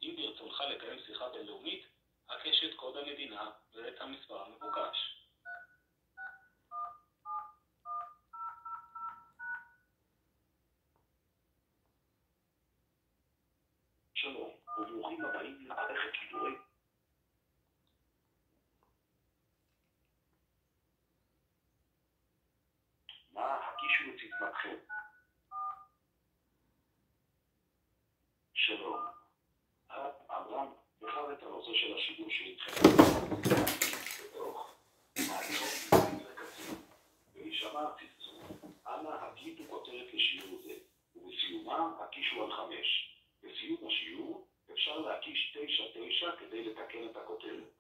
אם ברצונך לקיים שיחה בינלאומית, הקש את קוד המדינה ואת המספר המבוקש. שלום, וברוכים הבאים למערכת שידורי נא הקישו את סיסמתכם. שלום. הרב עמרם בחר את הנושא של השידור שאיתכם בתוך מערכות לקצין ולהישמע הצלצול. אנא הקליטו כותרת לשיעור זה, ובסיומה הקישו על 5. בסיום השיעור אפשר להקיש 9-9 כדי לתקן את הכותרת.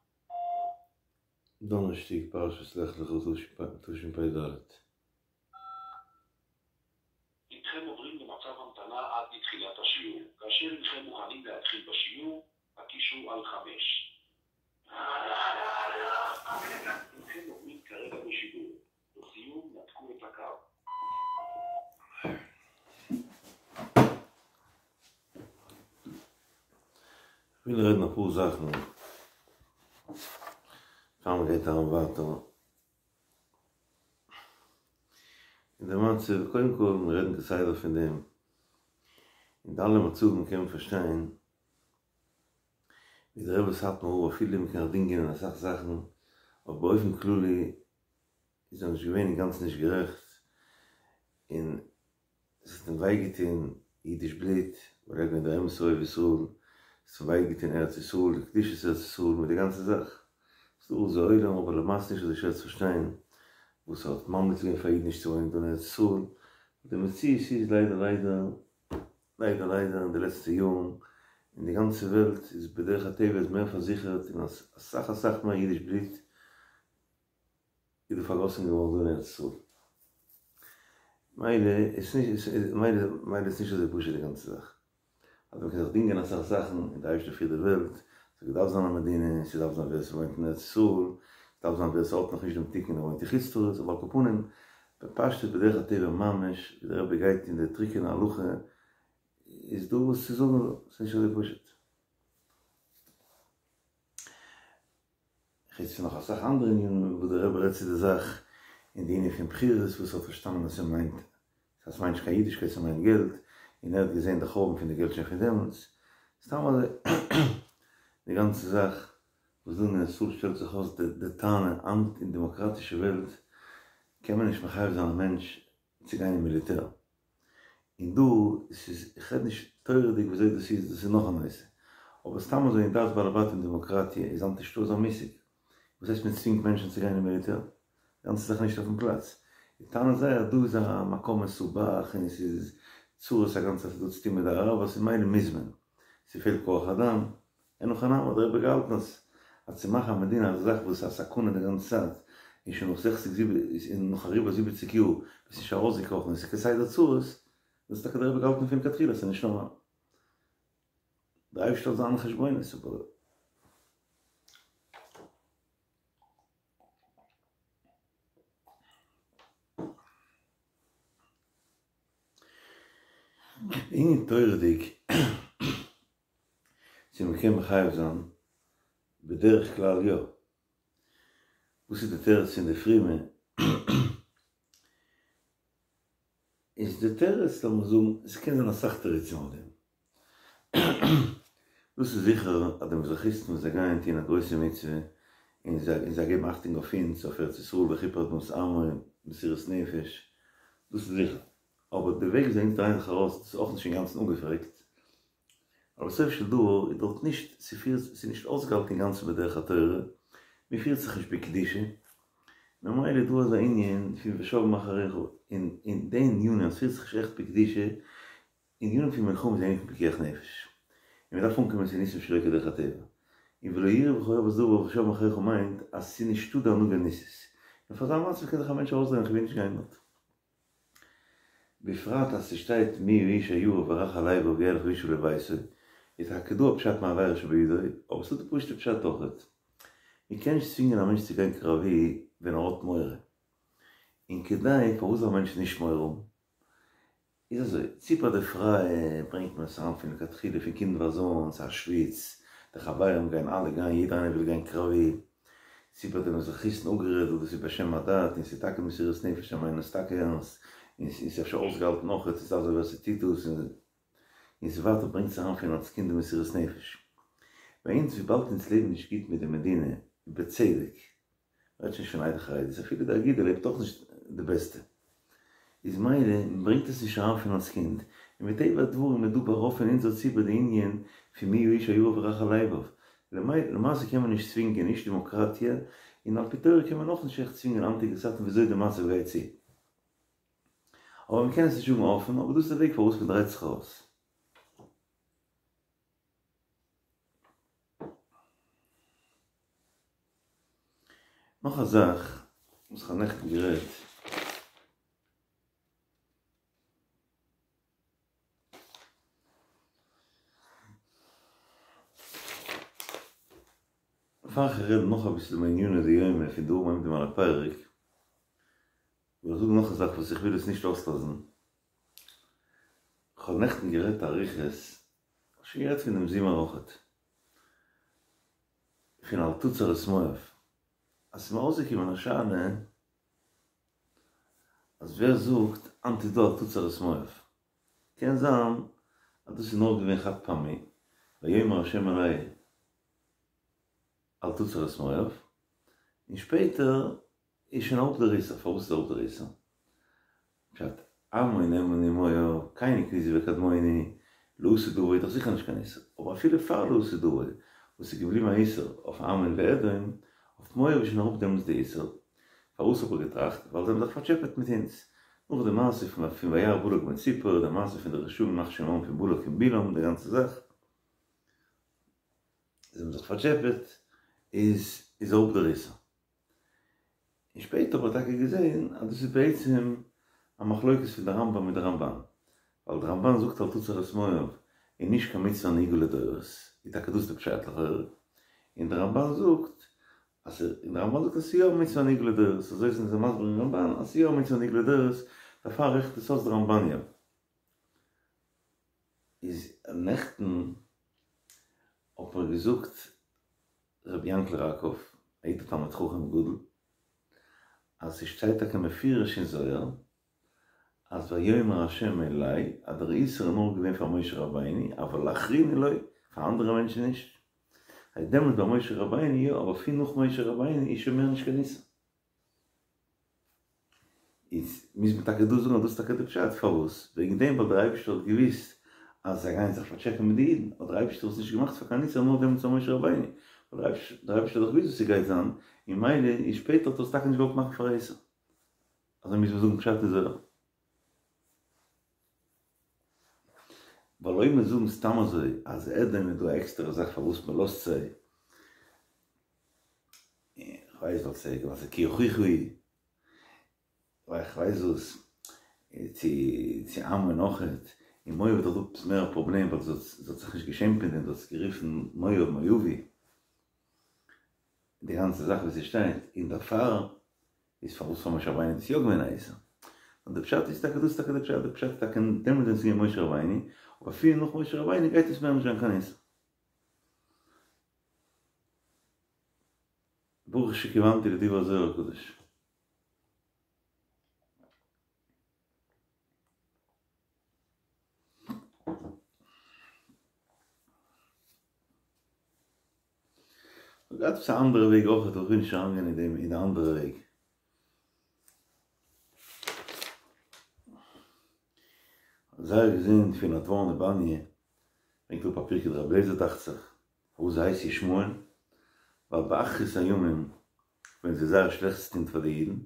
דאנערשטאג פרשת לך לך תשפ"ד. הנכם עוברים למצב המתנה עד לתחילת השיעור. כאשר הנכם מוכנים להתחיל בשיעור, הקישו על 5. הנכם עוברים כרגע בשידור. לסיום נתקו את הקו. כ'וויל רעדן אפאר זאכן פאר מ'גייט אריין ווייטער אין די מצב, קודם כל מיר רעדן כסדר פון דעם, אין די אלע מצבים קען מען פארשטיין ווי דער רבי סאטמאר רב אפילו מ'קען זיך דינגען אין אסאך זאכן, אבער באופן כללי איז ער נישט געווען אינגאנצן נישט גערעכט, און עס האט אים וויי געטון אידיש בלוט, ווייל ער איז געווען דער אמת'ער אוהב ישראל, עס האט אים וויי געטון ארץ ישראל, די קדושת ארץ ישראל מיט די גאנצע זאך. ס'איז דא אזא עולם אבער למעשה נישט אזוי שווער צו פארשטיין וואס ער האט ממליץ געווען פאר אידן נישט צו וואוינען דא אין ארץ ישראל, די מציאות איז ליידער ליידער ליידער ליידער אין די לעצטע יארן אין די גאנצע וועלט איז בדרך הטבע איז מער פארזיכערט און אסאך אסאך מער אידיש בלוט איז דא פארגאסן געווארן דא אין ארץ ישראל. מילא איז נישט מילא מילא איז נישט אזוי פשוט די גאנצע זאך. אז מ'קען זיך דינגען אסאך זאכן און די אייבערשטער פירט די וועלט, ס'האט געדארפט זיין א מדינה, ס'דארף זיין ווער ס'וואוינט אין ארץ ישראל, ס'דארף זיין ווער ס'האט נאך נישט דעם תיקון און וואוינט אין חוץ לארץ, אבער על כל פנים, בפשטות בדרך הטבע ממש, ווי דער רבי גייט אין די טרוקענע הלכה, איז דא וואס צו זאגן דא, ס'איז נישט אזוי פשוט. חוץ פון נאך אסאך אנדערע ענינים וואס דער רבי רעדט צו די זאך, און די ענין פון בחירות וואס ער האט פארשטאנען אז ס'מיינט אז ס'מיינט נישט קיין אידישקייט ס'מיינט געלט, און ער האט געזען די חורבן פון די געלט שוין פון דעמאלטס, סתם אזוי די גאנצע זאך וואס דא אין ארץ ישראל שטעלט זיך אויס די טענה היינט אין דעמאקראטישע וועלט קען מען נישט מחייב זיין א מענטש צו גיין אין מיליטער. און דא, ס'איז, איך רעד נישט תורה'דיג וויאזוי דאס איז, דאס איז נאך א נושא. אבער סתם אזוי אין דעת בעלי בתים דעמאקראטיע איז היינט נישטא אזא מושג. וואס הייסט מען צווינגט מענטשן צו גיין אין מיליטער? די גאנצע זאך איז נישט אויפן פלאץ. די טענה זייער אז דא איז א מקום מסובך און ס'איז צרות א גאנצע צייט ס'האט דא צוטון מיט די אראבערס און מילא מוז מען. ס'פעלט כח אדם. אין הכי נמי האט דער רבי געהאלטן אז אז צו מאכן א מדינה אזא זאך וואס איז א סכנה די גאנצע צייט און שוין נאך זעכציג און נאך אריבער זיבעציג יאר ביסט נישט ארויסגעקראכן און ס'איז כסדר צרות, דאס האט טאקע דער רבי געהאלטן פון לכתחילה ס'איז נישט נארמאל. דער אייבערשטער האט זיינע חשבונות אבער. ענין תורה'דיג. צו מען קען מחייב זיין? בדרך כלל יא. וואס איז די תירוץ פון די פרומע? איז די תירוץ לאמיר זאגן, עס קען זיין אסאך תירוצים אויף דעם. דאס איז זיכער אז די מזרחיסטן וואס זיי גייען טון א גרויסע מצוה, און זיי זיי געבן אכטונג אויף אונז, אויף ארץ ישראל וכיפר אדמת עמו, מסירות נפש, דאס איז זיכער. אבער די וועג וויאזוי אונז דרייען זיך ארויס, דאס איז אויך נישט אינגאנצן אפגעפרעגט. אבער בסופו של דבר איז דארט נישט, ס'פירט, ס'איז נישט אויסגעהאלטן אינגאנצן בדרך התורה, מ'פירט זיך נישט בקדושה, ממילא איז דא אזא ענין פון ושב מאחריך, און אין די ענינים אז ס'פירט זיך נישט עכט בקדושה, ענינים פון מלחמה איז א ענין פון פיקוח נפש, און מ'דארף אנקומען צו ניסים שלא כדרך הטבע, און ולא יראה בך ערות דבר ושב מאחריך מיינט אז ס'איז נישטא די הנהגה ניסית, און פאר אזא מצב קען זיך א מענטש ארויסדרייען כ'וויל נישט גיין דארט. בפרט אז ס'שטייט מי האיש הירא ורך הלבב וילך וישוב לביתו, איז טאקע דא א פשט מעבירה שבידו, אבער ס'דא די פשוט'ע פשט אויכעט. מ'קען נישט צווינגען א מענטש צו גיין קרבי ווען ער האט מורא. און כדי פארוואס זאל א מענטש נישט מורא האבן? איז אזוי, צו ביי די פרייע ברענגט מען עס אריין פון לכתחילה פון קינדווייז אן, ס'איז א שוויץ, די חברים גייען אלע גיין, יעדער איינער וויל גיין קרבי, צו ביי די מזרחיסטן אפגערעדט וואס דאס איז בשם הדת און ס'איז טאקע מסירות נפש זיי מיינען עס טאקע ערנסט, און ס'איז אפשר אויסגעהאלטן אויכעט, ס'איז אזוי ווער ס'טוט דאס און און ס'ווייטער ברענגט עס אריין פון אלס קינד די מסירות נפש. ביי אונז וויבאלד אונז לעבן נישט גוט מיט די מדינה, ובצדק, מ'רעדט שוין נישט פון עדה חרדית, אפילו די אגודה לעבט אויך נישט די בעסטע, איז מילא מ'ברענגט עס נישט אריין פון אלס קינד, און מטבע הדברים איז דא ביי רוב פון אונזער ציבור די ענין פון מי האיש הירא ורך הלבב, למעשה קען מען נישט צווינגען נישט דעמאקראטיע, און על פי תורה קען מען אויך נישט עכט צווינגען היינטיגע צייטן וויאזוי די מצב גייט צו. אבער מ'קען עס נישט זאגן אפן, אבער דאס איז די וועג פארוואס מ'דרייט זיך ארויס. נאך א זאך וואס כ'האב נעכטן גערעדט. פאר איך רעד נאך אביסל מעניני דיומא פון דברים העומדים על הפרק, וויל איך זאגן נאך א זאך וואס איך וויל עס נישט אויסלאזן. כ'האב נעכטן גערעדט אריכות, כ'האב שוין גערעדט פון דעם זומער אויכעט, פון אל תצר את מואב, אז ס'איז מיר אויסגעקומען א שאלה אז ווער זאגט היינט איז דא אל תצר את מואב? קען זיין אז דאס איז נאר געווען חד פעמי, ויאמר ה' אלי אל תצר את מואב, און שפעטער איז שוין אראפ דער איסור, פארוואס איז אראפ דער איסור? פשט, עמון עמוני ומואב, קיני קניזי וקדמוני, לעתיד לבוא איז דאך זיכער נישט קיין איסור, אבער אפילו פאר לעתיד לבוא, וואס איז געבליבן א איסור אויף עמון ואדום, אויף מואב איז שוין אראפ דעמאלטס די איסור, פארוואס האב איך געטראכט? ווייל זיי האבן זיך פארטשעפעט מיט אונז, נאך די מעשה פון וירא בלק בן ציפור, די מעשה פון די רשעים ימח שמם פון בלק און בלעם, די גאנצע זאך, זיי האבן זיך פארטשעפעט, איז איז אראפ דער איסור. און שפעטער האב איך טאקע געזען אז דאס איז בעצם א מחלוקת פון די רמב"ם מיט די רמב"ן, ווייל די רמב"ן זאגט אל תצר את מואב איז נישט קיין מצוה הנהוגה לדורות, איז טאקע דאס די פשט לכאורה, און די רמב"ן זאגט אז און די רמב"ן זאגט אז ס'איז יא א מצוה הנהוגה לדורות, אזוי זענען זיי מסביר אין רמב"ן אז ס'איז יא א מצוה הנהוגה לדורות, דערפאר רעכנט עס אויס די רמב"ן יא. איז נעכטן האט מיר געזאגט רבי יענקל ראקוב, א איד א תלמיד חכם גדול, אז ס'שטייט טאקע מפורש אין זוהר אז ויאמר ה' אלי אז דער איסור איז נאר געווען פאר משה רבינו אבל לאחריני לא, פאר אנדערע מענטשן נישט. הייסט דעמאלטס ביי משה רבינו יא, אבער פון נאך משה רבינו איז שוין מער נישט קיין איסור. איז מוז מען טאקע דא זאגן אז דאס איז טאקע די פשט, פארוואס? וועגן דעם ווייל דער אייבערשטער האט געוואוסט אז זיי גייען זיך פארטשעפען מיט די אידן, האט דער אייבערשטער עס נישט געמאכט פאר קיין איסור נאר דעמאלטס פאר משה רבינו, ווייל דער אייבערשטער האט דאך געוואוסט וואס ס'גייט זיין, און מילא איז שפעטער האט ער עס טאקע נישט געוואלט מאכן פאר א איסור. אזוי מוז מען זאגן פשט אין זוהר. ווייל אויב מיר זאגן סתם אזוי אז אדום איז דא א עקסטערע זאך פארוואס מען לאזט זיי, איך ווייס ווייל ס'איז ווייל ס'איז כי אחיך הוא, ווייל איך ווייס וואס, צו צו עמון אויכעט, און מואב איז דאך דא עפעס מער א פראבלעם ווייל זי האט זי האט זיך נישט געשעמט מיט דעם, זי האט עס גערופן מואב מואבי, די גאנצע זאך ווי ס'שטייט, און דערפאר איז פארוואס פאר משה רבינו איז דאס יא געווען א איסור? נאר די פשט איז טאקע דאס איז טאקע די פשט, די פשט איז טאקע דעמאלט ווען ס'איז געווען משה רבינו, אבער אפילו נאך משה רבינו גייט עס מער נישט זיין קיין איסור. ברוך שכיוונתי לדברי הזוהר הקדוש. כ'האב געהאט עפעס א אנדערע וועג אויך אבער כ'וויל נישט אריינגיין אין דעם אין די אנדערע וועג. זייער געזונט פון נדבורנה באניע ברענגט אראפ א פרקי דרבי אליעזר דאכט זיך פארוואס זי הייסט ישמעאל ווייל באחרית הימים וועלן זיי זייער שלעכטס טון פאר די אידן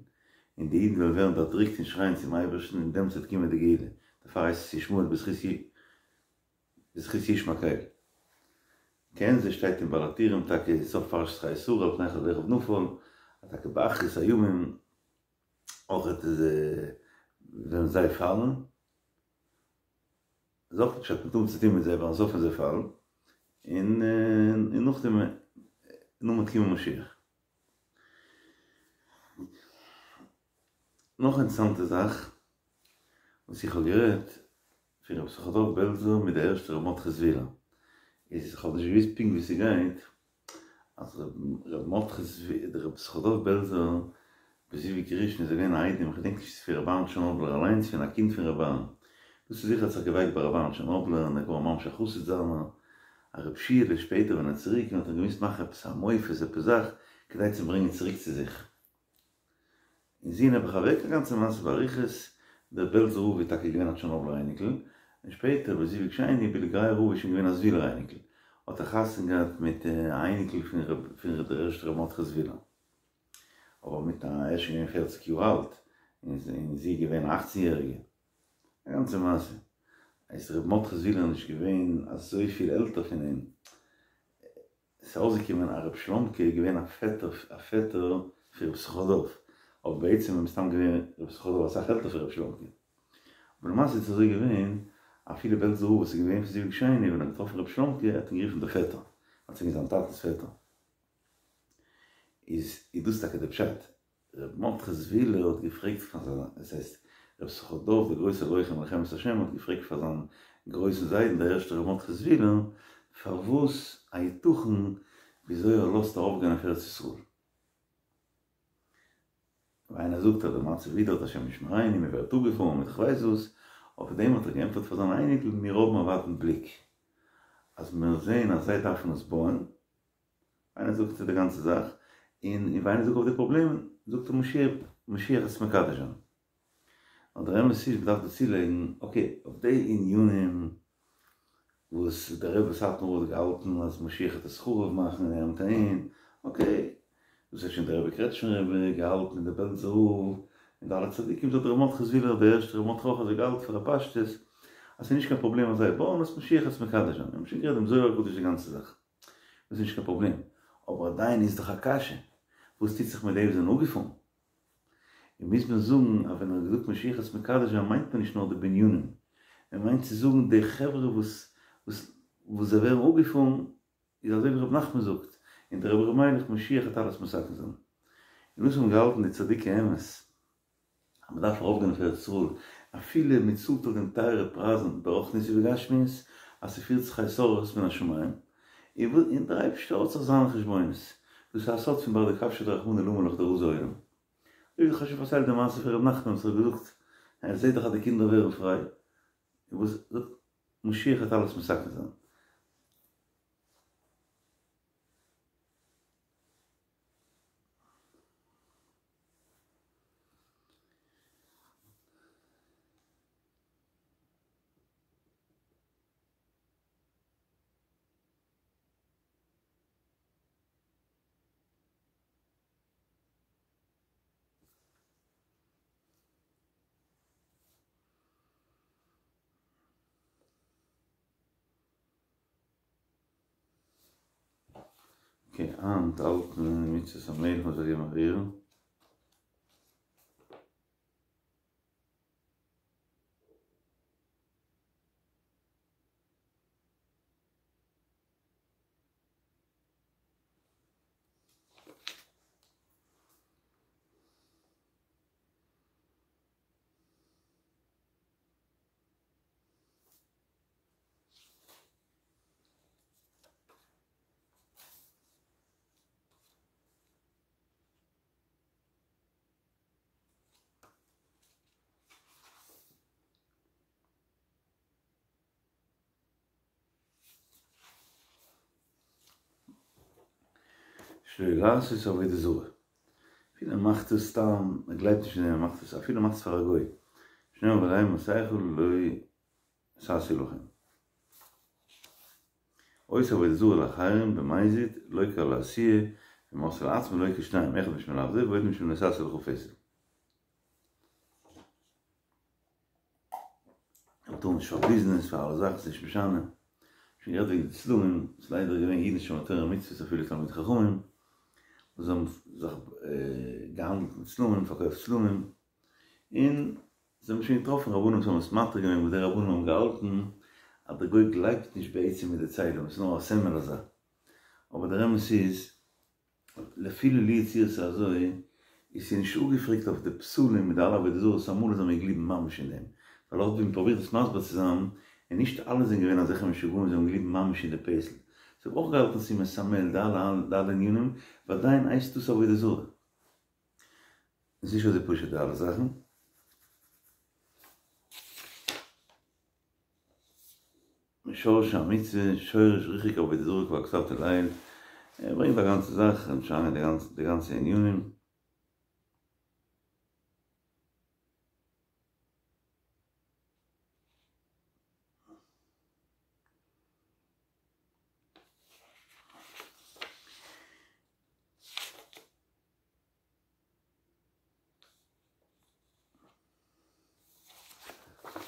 און די אידן וועלן ווערן דערדריקט און שרייען צום אייבערשטן און דעמאלטס וועט קומען די גאולה דערפאר הייסט עס ישמעאל בזכות בזכות ישמע קל. כעין זה שטייט אין בעל הטורים טאקע אין סוף פרשת חיי שרה על פני אחד ואחיו נפל אז טאקע באחרית הימים אויכעט איז וועלן זיי פאלן איז אויך פשט מ'האט צו טון מיט זיי ווייל סוף וועלן זיי פאלן און און נאכדעם נאכדעם וועט קומען משיח. נאך אינטערעסאנטע זאך וואס איך האב גערעדט. פון רבי יששכר דוב בעלזער מיט די ערשטע רבי מרדכי זוויהלער איז איך האב נישט געוויסט פונקט ווי ס'גייט אז רבי מרדכי זוויהלער רבי יששכר דוב בעלזער בזיווג ראשון איז ער געווען א איידעם איך געדענק נישט צו פון רבי אהרן טשערנאבלער אליינס פון א קינד פון רבי אהרן דאס איז זיכער האט זיך געווייקט ביי רבי אהרן טשערנאבלער און ער איז געווארן ממש א חסיד זיינער א רב שיעלע שפעטער ווען ער איז צוריק האט ער געמוזט מאכן עפעס א מופת עפעס זאך כדי צו ברענגען צוריק צו זיך. און זי נעבעך אוועק א גאנצע מעשה באריכות, דער בעלזער רב איז טאקע געווען א טשערנאבלער אייניקל, און שפעטער בזיווג שני בילגורייער רב איז שוין געווען א זוויהלער אייניקל, האט ער חתונה געהאט מיט א אייניקל פון פון דער ערשטער ר' מרדכי זוויהלער, אבער מיט א ער איז שוין געווען פערציג יאר אלט, און זי איז געווען א אכצן יעריגע, א גאנצע מעשה, איז ר' מרדכי זוויהלער נישט געווען אזויפיל עלטער פון אים, עס איז אויסגעקומען אז ר' שלומ'קע איז געווען א פעטער א פעטער פון ר' יששכר דוב, אבער בעצם איז מסתם געווען ר' יששכר דוב אסאך עלטער פון ר' שלומ'קע. אבער למעשה איז עס אזוי געווען, אפילו בעלזער רב וואס איז געווען פון זיווג שני ווען ער האט געטראפן ר' שלומ'קע האט אים גערופן דער פעטער, ווייל ס'איז געווען זיין טאטנ'ס פעטער. איז איז דאס טאקע דער פשט. ר' מרדכי זוויהלער האט געפרעגט פאר זיין, עס הייסט ר' יששכר דוב דער גרויסער לוחם מלחמת השם האט געפרעגט פאר זיין גרויסן זיידן דער ערשטער ר' מרדכי זוויהלער פארוואס היתכן וויאזוי ער לאזט ארויפגיין אויף ארץ ישראל. ווי איינער זאגט אז דער מצב איז דארט השם ישמרינו מען ווערט אפגעפארן מיט כ'ווייס וואס, אויף דעם האט ער געענטפערט פאר זיין אייניקל מיר האבן א ווייטן בליק אז מיר זעהן אז זיי דארפן עס בויען, איינער זאגט די גאנצע זאך, און ווען איינער זאגט אויף די פראבלעמען, זאגט ער משיח, משיח וועט עס מקדש זיין. נאר דער אמת איז, מ'דארף דא צולייגן, אקעי, אויף די ענינים וואס דער רבי סאטמאר האט געהאלטן אז משיח וועט עס חרוב מאכן און ער מיט אהין, אקעי, דאס האט שוין דער רבי קרעטשמער רבי געהאלטן און דער בעלזער רב און די אלע צדיקים, דאס האט ר' מרדכי זוויהלער דער ערשטער ר' מרדכי אויך אזוי געהאלטן פאר א פשטות אז ס'איז נישט קיין פראבלעם אז זיי בויען עס משיח וועט עס מקדש זיין, מיר האבן שוין גערעדט דעם זוהר הקדוש די גאנצע זאך. דאס איז נישט קיין פראבלעם, אבער עדיין איז דאך א קשיא, וואס טוט זיך מיט די וואס זענען אפגעפארן? און מוז מען זאגן אז ווען ער האט געזאגט משיח וועט עס מקדש זיין מיינט מען נישט נאר די בנינים, מען מיינט צו זאגן די חברה וואס וואס וואס זיי ווערן אפגעפארן, איז אזוי ווי ר' נחמן זאגט, און דער רבי ר' מיילעך משיח וועט אלעס מתקן זיין. און דאס האבן געהאלטן די צדיקי אמת. אז מען דארף ארויפגיין אויף ארץ ישראל, אפילו מען צאלט אויף דעם טייערע פרייזן ברוחניות ובגשמיות, אז ס'פירט זיך התעוררות מן השמים, און דער אייבערשטער האט זיך זיינע חשבונות, דאס איז א סוד פון בר דכבשא דרחמנא למה לך דרזי עולם. אזוי ווי איך האב שוין פארציילט די מעשה פון ר' נחמן וואס האט געזאגט, ער זעט דאך אז די קינדער ווערן פריי, און וואס זאגט משיח וועט אלעס מתקן זיין. אקעי, היינט האלט מען מצות המלך מ'זאל געבן א ריר. שלא לעשות עבודה זרה. אפילו ער מאכט עס סתם, ער גלייבט נישט אין דעם, ער מאכט עס, אפילו ער מאכט עס פאר א גוי. שנאמר ודי מסכה לא תעשו לכם. עושה עבודה זרה לאחרים במזיד, לוקה על העשיה, ואם עשאה לעצמו לוקה שניים, אחד משום לאו זה ועוד משום לא תעשה לך פסל. מ'טאר נישט פאר ביזנעס, פאר אלע זאכן, ס'נישט משנה. שוין גערעדט וועגן די צלמים, ס'איז ליידער געווען אידן שומרי תורה ומצוות אפילו תלמידי חכמים, וואס האבן זיך געהאנדלט מיט צלמים, פארקויפט צלמים, און זיי האבן שוין געטראפן רבנים וואס האבן עס מתיר געווען וואס די רבנים האבן געהאלטן אז דער גוי גלייבט נישט בעצם מיט די צלם, עס איז נאר א סמל אזא. אבער דער אמת איז, אפילו לו יצוייר ס'איז אזוי, איז ס'נישט אפגעפרעגט אויף די פסלים מיט די אלע עבודה זרות, אמאל איז מען געבליבן ממש אין דעם. ווייל אויך ווי מ'פרובירט עס מסביר צו זיין, און נישט אלע זענען געווען אזעלכע משוגעים וואס האבן געליטן ממש אין די פעסל. זיי האבן אויך געהאלטן ס'איז מסמל די אלע די אלע ענינים, ועדיין הייסט דאס עבודה זרה. עס איז נישט אזוי פשוט די אלע זאכן. משורשי המצוה, שורש ריחוק עבודה זרה כבר כתבתי לעיל, ער ברענגט א גאנצע זאך, און שוין די גאנצע ענינים.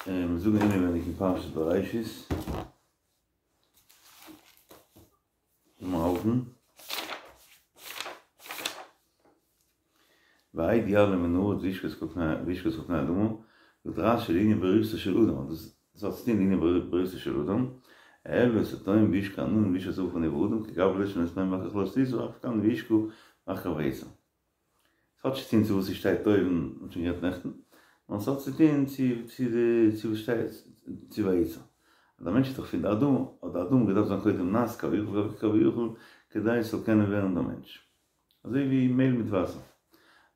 מיר זאגן אינעווייניג אין פרשת בראשית, לאמיר האלטן, והאד יעלה מן הארץ וישקה את כל פני האדמה, זאגט רשי לענין בריאתו של אדם, דאס האט צוטון לענין בריאתו של אדם, אעלה את התהום וישקה העננים וישרה את העפר נבראו אדם, כגון אש שנתנה ואחר כך לא תשא, אף כאן וישקה ואחר כך ויצר. ס'האט נישט צוטון צו וואס ס'שטייט אויבן, מ'האט שוין גערעדט נעכטן, נאר ס'האט צוטון צו צו די צו וואס שטייט צו ויצר. אז א מענטש איז דאך פון די אדמה, האט די אדמה געדארפט זיין קודם נאס כביכול כביכול כדי ס'זאל קענען ווערן דער מענטש. אזוי ווי מעהל מיט וואסער.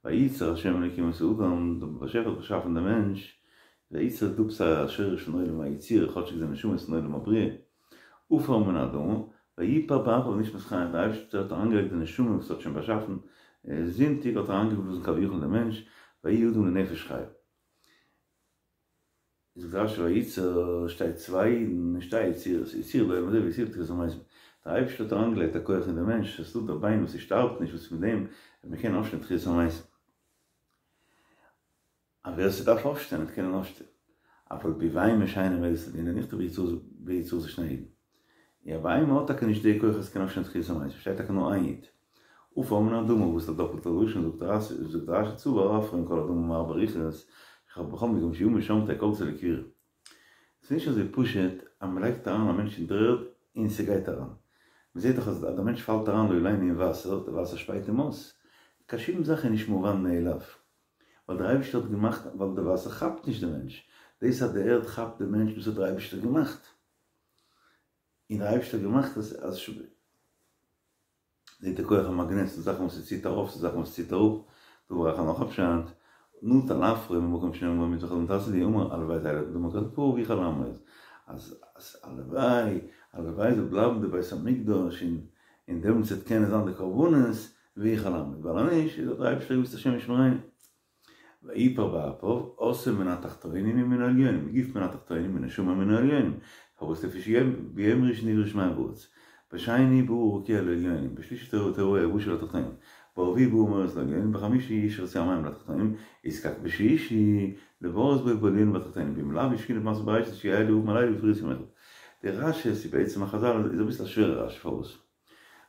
וייצר ה' אלקים את האדם, דער באשעפער האט באשאפן דעם מענטש, וייצר איז דא עפעס א שורש פון עולם היצירה, כאטשיג די נשמה איז פון עולם הבריאה, עפר מן האדמה, ויפח באפיו נשמת חיים, דער אייבערשטער האט אריינגעלייגט די נשמה וואס ער האט שוין באשאפן זונטאג האט ער אריינגעבלאזן כביכול אין דעם מענטש, ויהי האדם לנפש חיה. זאגט רשי וייצר שטייט צוויי יודן שתי יצירות, יצירה לעולם הזה ויצירה לתחיית המתים, דער אייבערשטער האט אריינגעלייגט א כח אין דעם מענטש, עס איז דא דער ביין וואס ס'שטארבט נישט וואס פון דעם וועט מען קענען אויפשטיין תחיית המתים. אז ווער ס'דארף אויפשטיין וועט קענען אויפשטיין, אף על פי בהמה שאינה עומדת לדין נכתב ביצירת שני יודין. יא בהמה האט טאקע נישט די כח אז ס'קען אויפשטיין תחיית המתים, שטייט טאקע נאר איין יוד. עפר מן האדמה וואס איז א דאפלטע לשון זאגט רשי צבר עפרו עם כל האדמה מארבע רוחות, בכל מקום שימות שם תהא קולטתו לקבורה. ס'איז נישט אזוי פשוט אז מ'לייגט אריין א מענטש אין דר'ערד און ס'גייט אריין. מ'זעט דאך אז דער מענטש פאלט אריין לא עלינו אין וואסער, די וואסער שפייט אים אויס. קיין שום זאך איז נישט מובן מאליו. ווייל דער אייבערשטער האט געמאכט ווייל די וואסער כאפט נישט די מענטש. דאס אז די ערד כאפט די מענטש דאס האט דער אייבערשטער געמאכט. און דער אייבערשטער האט געמאכט אז אז זעט די כח המאגנעט, ס'דא זאכן וואס ס'ציט ארויף, ס'דא זאכן וואס ס'ציט אראפ, דא בראך ער נאך א פשט, נטל עפרו ממקום שנאמר בו מזבח האדמה תעשה לי, אמר הלוואי תהא האדמה כלפרה ואוכל לעמוד, אז אז הלוואי, הלוואי זאל בלייבן די בית המקדש און און דעמאלטס וועט קענען זיין די קרבנות ואוכל לעמוד, ווייל אז נישט איז האט דער אייבערשטער געוואוסט השם ישמרינו. ויפח באפיו, עשאו מן התחתונים ומן העליונים, גוף מן התחתונים ונשמה מן העליונים, פארוואס לפי שביום ראשון נבראו שמים וארץ, בשני ברא רקיע לעליונים, בשלישי תהו היבשה לתחתונים, ברביעי ברא מאורות לעליונים, בחמישי ישרצו המים לתחתונים, נזקק בשישי לבראות בו בעליונים ובתחתונים, ואם לאו יש קינא במעשה בראשית שיהא לי ערבים הלילה ובפוריות יום אחד. די רשי איז בעצם א חזל איז אביסל א שווערע רשי פארוואס?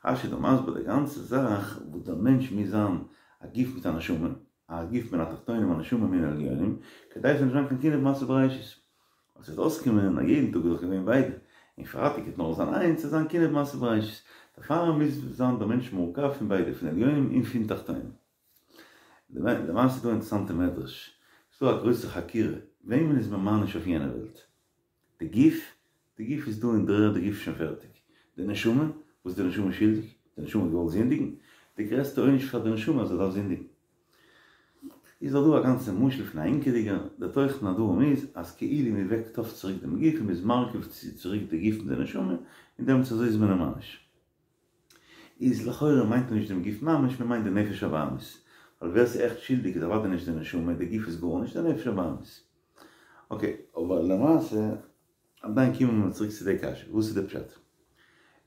רשי איז דא מסביר די גאנצע זאך וואס דער מענטש מוז זיין א גוף מיט א נשמה, א גוף מן התחתונים א נשמה מן העליונים, כדי ס'זאל נישט זיין קיין קנאה במעשה בראשית. ווייל ס'וועט אויסקומען אז יעדן טאג איז דאך געווען ביידע, און פרייטאג וועט נאר זיין איינס, ס'וועט זיין קנאה במעשה בראשית. דערפאר מוז זיין דער מענטש מורכב פון ביידע, פון עליונים און פון תחתונים. למעשה איז דא א אינטערעסאנטע מדרש, ס'איז דא א גרויסע חקירה, וועמען איז מען מעניש אויף יענע וועלט? די גוף? די גוף איז דא אין דר'ערד, די גוף איז שוין פערטיג. די נשמה? וואס איז די נשמה שולדיג? די נשמה האט געוואלט זינדיגן? די גרעסטע עונש פאר די נשמה אז זי דארף זינדיגן. איז דאך דא א גאנצע משל פון א הינקעדיגער, די תוכן הדברים איז אז כאילו מען וועקט אויף צוריק דעם גוף און מען איז מרכיב צוריק די גוף מיט די נשמה, און דעמאלטס אזוי איז מען אים מעניש. איז לכאורה מיינט מען נישט דעם גוף ממש, מען מיינט די נפש הבהמית. ווייל ווער ס'איז עכט שולדיג איז אוודאי נישט די נשמה, די גוף איז גארנישט, די נפש הבהמית. אקעי, אבער למעשה, עדיין קומען מיר צוריק צו די קשיא, וואס איז די פשט?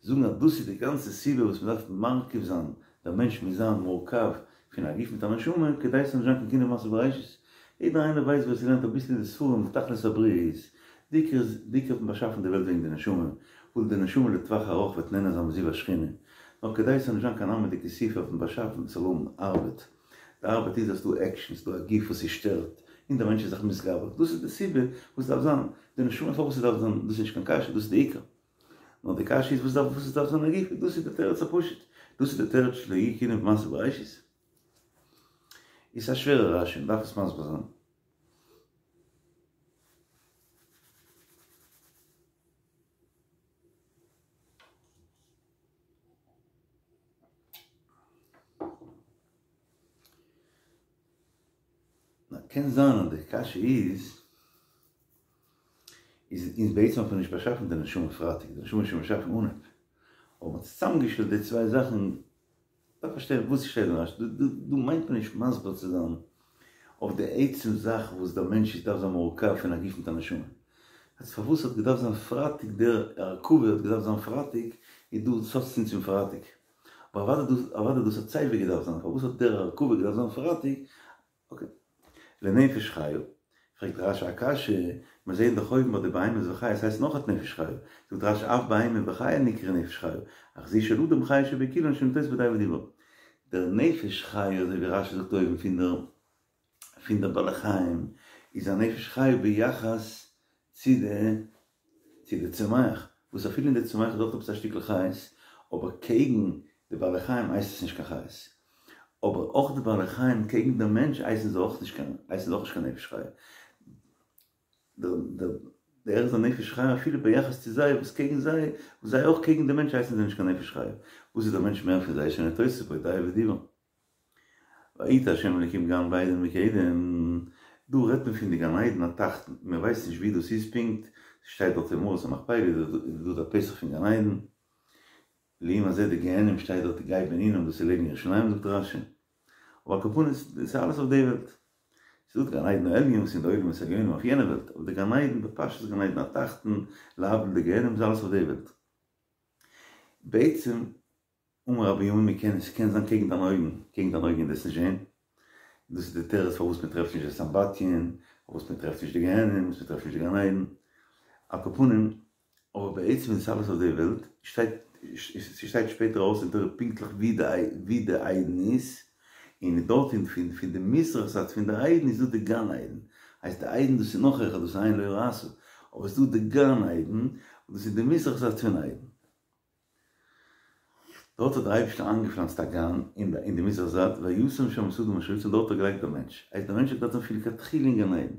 זאגן אז דאס איז די גאנצע סיבה וואס מען דארף מרכיב זיין, דער מענטש מוז זיין מורכב פון א גוף מיט א נשמה, כדי ס'זאל נישט זיין קיין קנאה במעשה בראשית. יעדער איינער ווייסט ווער ס'לערנט אביסל אין די ספרים וואס תכלית הבריאה איז. די עיקר איז, די עיקר האט מען באשאפן די וועלט וועגן די נשמה, ווייל די נשמה לטווח ארוך וועט נהנה זיין מזיו השכינה. נאר כדי ס'זאל נישט זיין קיין עלמא דכיסופא האט מען באשאפן ס'זאל האבן ארבעט. די ארבעט איז אז ס'דא עקשן, ס'דא א גוף וואס ס'שטערט, און דער מענטש איז זיך מתגבר. דאס איז די סיבה וואס ס'דארף זיין די נשמה פארוואס ס'דארף זיין, דאס איז נישט קיין קשיא, דאס איז די עיקר. נאר די קשיא איז וואס דארף וואס עס דארף זיין א גוף, דאס איז די תירוץ הפשוט, דאס איז די תירוץ שלא יהיה קנאה במעשה בראשית. איז א שווערע רשי, מ'דארף עס מסביר זיין. קען זיין אז די קשיא איז, איז אונז בעצם האט מען נישט באשאפן די נשמה פרייטאג, די נשמה איז שוין באשאפן אנהייב, אבער מ'האט צוזאמגעשטעלט די צוויי זאכן, דארף פארשטיין וואס שטייט אין רש"י, דא מיינט מען נישט מסביר צו זיין אויף די עצם זאך וואס דער מענטש איז דארף זיין מורכב פון א גוף מיט א נשמה. אז פארוואס האט געדארפט זיין פרייטאג דער הרכבה האט געדארפט זיין פרייטאג איז דא ס'האט צוטון צום פרייטאג. אבער אוודאי דאס אוודאי דאס האט סייווי געדארפט זיין פארוואס האט דער הרכבה געדארפט זיין פרייטאג אקעי. לנפש חיה, פרעגט רש"י א קשיא, מיר זעהן דאך אויבן ביי די בהמות וחיות הייסט נאך אט נפש חיה, זאגט רש"י אף בהמה וחיה נקרא נפש חיה, אך זו של אדם חיה שבכולן שנוטעות בדעה ודיבור. דער נפש חיה אזוי ווי רש"י זאגט אויבן פון דער פון דער בעלי חיים איז א נפש חיה ביחס צו די צו די צומח, וואס אפילו אין די צומח איז אויך עפעס א שטיקל חיות, אבער קעגן די בעלי חיים הייסט עס נישט קיין חיות. אבער אויך די בעלי חיים קעגן די מענטש הייסן זיי אויך נישט קיין הייסן זיי אויך נישט קיין נפש חיה. דער דער דער איז א נפש חיה אפילו ביחס צו זיי וואס קעגן זיי, וואס זיי אויך קעגן די מענטש הייסן זיי נישט קיין נפש חיה. וואס איז דער מענטש מער פון זיי שנטועות בו דעה ודיבור. ויטע ה' אלקים גן בעדן מקדם, דא רעדט מען פון די גן עדן התחתון, מען ווייסט נישט ווי דאס איז פונקט, ס'שטייט דארט אין מערת המכפלה איז דא דער פתח פון גן עדן, לעומת זה די גיהנום שטייט דארט גיא בן הינום דאס איז לעבן ירושלים זאגט רש"י, אבער על כל פנים דאס איז אלעס אויף די וועלט, ס'איז דא די גן עדן העליון וואס איז אין די עולמות העליונים אויף יענע וועלט, אבער די גן עדן בפשטות גן עדן התחתון להבדיל די גיהנום איז אלעס אויף די וועלט. בעצם אמר רבי בנימין מ'קען עס קען זיין קעגן דיינע אויגן, קעגן דיינע אויגן וועסט נישט זען, דאס איז די תירוץ פארוואס מען טרעפט נישט די סמבטיון, פארוואס מען טרעפט נישט די גיהנום, פארוואס מען טרעפט נישט די גן עדן, על כל פנים, אבער בעצם איז עס אלעס אויף די וועלט, שטייט, ס'שטייט שפעטער אויס אין תורה פונקטליך ווי די ווי די עדן איז, און דארט אין פון פון די מזרח זייט פון די עדן איז דא די גן עדן, הייסט די עדן דאס איז נאך העכער דאס איז עין לא ראתה, אבער ס'איז דא די גן עדן, דאס איז די מזרח זייט פון עדן. דארט האט דער אייבערשטער איינגעפלאנצט א גן אין די מזרח זייט, וישם שם את האדם אשר יצר, דארט האט ער געלייגט דער מענטש, הייסט דער מענטש האט געדארפט זיין פון לכתחילה אין גן עדן,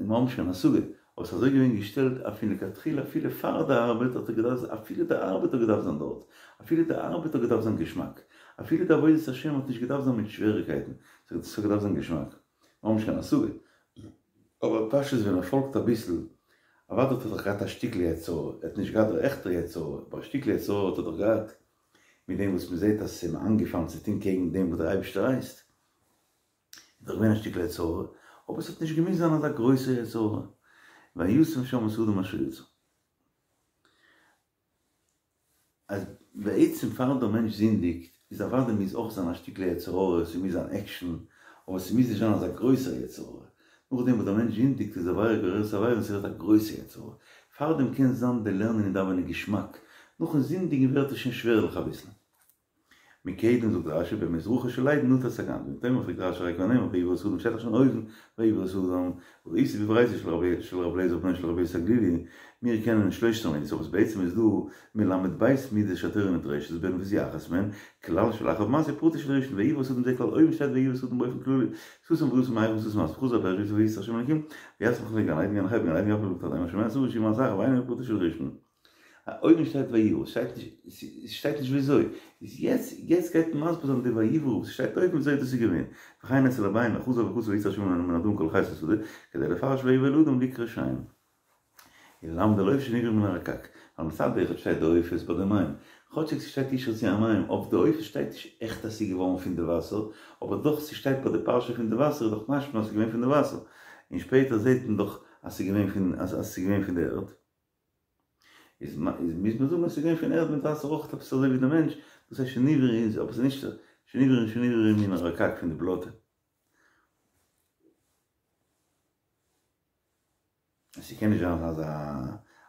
מיר האבן נישט קיין השגה, אבער ס'איז אזוי געווען געשטעלט אז פון לכתחילה אפילו פאר די ארבעט האט ער געדארפט, אפילו די ארבעט האט געדארפט זיין דארט, אפילו די ארבעט האט געדארפט זיין געשמאק, אפילו די עבודת השם האט נישט געדארפט זיין מיט שוועריקייטן, ס'האט געדארפט זיין געשמאק, מיר האבן נישט קיין השגה, אבער פשטות ווען מען פאלגט אביסל, אוודאי האט ער דאך געהאט א שטיקל יצר הרע, ער האט נישט געהאט דער עכטער יצר הרע, אבער א שטיקל יצר הרע האט ער דאך געהאט, מיט דעם וואס מען זעט אז ס'איז אים איינגעפאלן צו טון קעגן דעם וואס דער אייבערשטער הייסט, איז דאך געווען א שטיקל יצר הרע, אבער עס האט נישט געמוזט זיין אזא גרויסער יצר הרע, וישם שם את האדם אשר יצר. אז בעצם פאר דער מענטש זינדיגט איז אוודאי מוז אויך זיין א שטיקל יצר הרע, ס'מוז זיין עקשן, אבער ס'מוז נישט זיין אזא גרויסער יצר הרע. נאכדעם וואס דער מענטש זינדיגט איז עבירה גוררת עבירה און ס'ווערט א גרויסע יצר הרע. פארדעם קען זיין די לערנען און דאווענען געשמאק, נאכן זינדיגן ווערט עס שוין שווערליך אביסל. מקדם זאגט רשי במזרחו של עדן נטע את הגן, ואם תאמר פרעגט רשי הרי כבר נאמר ויברא את האדם שטייט דאך שוין אויבן ויברא את האדם, וראיתי בברייתא של רבי של רבי אליעזר בנו של רבי יוסי הגלילי, מיר קענען שלושת המידות אבער בעצם איז דא מל"ב מידות שהתורה נדרשת בהן וואס איז אחת מהן, כלל שלאחר מעשה פרטו של ראשון ויברא את האדם זה כלל אויבן שטייט ויברא את האדם באופן כללי, סתם בריאתו מהיכן סתם מעשה חזר הפרש ויצר השם אלקים ויצמח לו גן עדן גן החי בגן עדן יפלא בקטן השומע סבור שהיא מעשה אחר ואינו פרטו של ראשון. אויבן שטייט ויברא, ס'שטייט נישט, ס'שטייט נישט וויאזוי, איז יעצט, יעצט גייט מען מסביר זיין די ויברא וואס שטייט אויבן וויאזוי דאס איז געווען, וכן אצל אביי חזר וכתב ויצר השם מן האדמה כל חיות השדה, כדי לפרש ויברא אל האדם לקרוא שם. וללמד על עוף שנברא מן הרקק, ווייל מצד אחד שטייט די עופות ביי די מים, כאטשיג ס'שטייט ישרצו המים, אויף די עופות שטייט נישט עכט אז ס'איז געווארן פון די וואסער, אבער דאך ס'שטייט ביי די פרשה פון די וואסער איז דאך משמע אז ס'איז געווען פון די וואסער, און שפעטער זעט מען דאך אז ס'איז געווען פון אז ס'איז געווען פון די ערד. איז איז מוז מען זאגן אז ס'איז געווען פון ערד מיט וואסער אויך עפעס אזוי ווי די מענטש, דאס הייסט שנברא איז אבער ס'איז נישט שנברא און שנברא מן הרקק פון די בלאטע. ס'קען נישט זיין אזא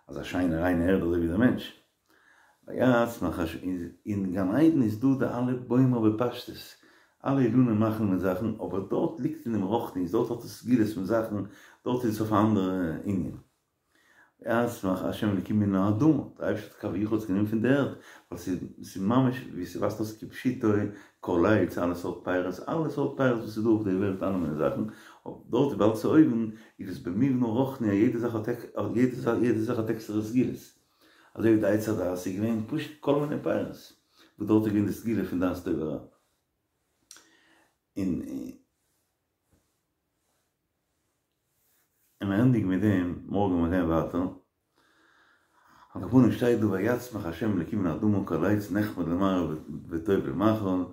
אזא שיינע ריינע ערד אזוי ווי די מענטש. ויצמח אין גן עדן איז דא די אלע בוימער בפשטות, אלע אילנים מאכן מיט זאכן, אבער דארט ליגט אין דעם רוחניות, דארט האט עס סגולות פון זאכן, דארט איז עס אויף א אנדערע ענין. ויצמח ה' אלקים מן האדמה, דער אייבערשטער האט כביכול עס גענומען פון די ערד, ווייל ס'איז ממש ווי ס'ווייזט אויס כפשוטו, כל עץ, אלע סארט פירות, אלע סארט פירות וואס איז דא אויף די וועלט, אלע מיני זאכן, דארט וויבאלד ס'איז אויבן, איז עס במבנה רוחני אז יעדע זאך האט יעדע זאך האט עקסטערע סגולות, אזוי ווי די עץ הדעת איז געווען פשוט כל מיני פירות, וואס דארט איז געווען די סגולה פון דעת טוב ורע. און. און מיר ענדיגן מיט דעם, מארגן וועלן מיר גיין ווייטער. על כל פנים שטייט דא ויצמח ה' אלקים מן האדמה כל עץ נחמד למראה וטוב למאכל,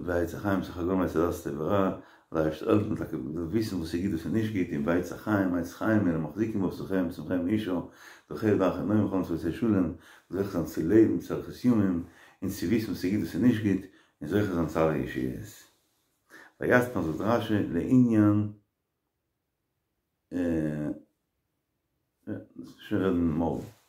ועץ החיים בתוך הגן ועץ הדעת טוב ורע, דער אייבערשטער העלפן מ'זאל טאקע וויסן וואס איז גוט וואס איז נישט גוט, און ועץ החיים עץ חיים היא למחזיקים בה בתוככי צמחיה מאושר, דרכיה דרכי נועם וכל נתיבותיה שלום, זוכה זיין צו לעבן צו אריכות ימים, און צו וויסן וואס איז גוט וואס איז נישט גוט, און זוכה זיין צו אלע ישועות. ויצמח זאגט רש"י לעניין שוין רעדן מארגן.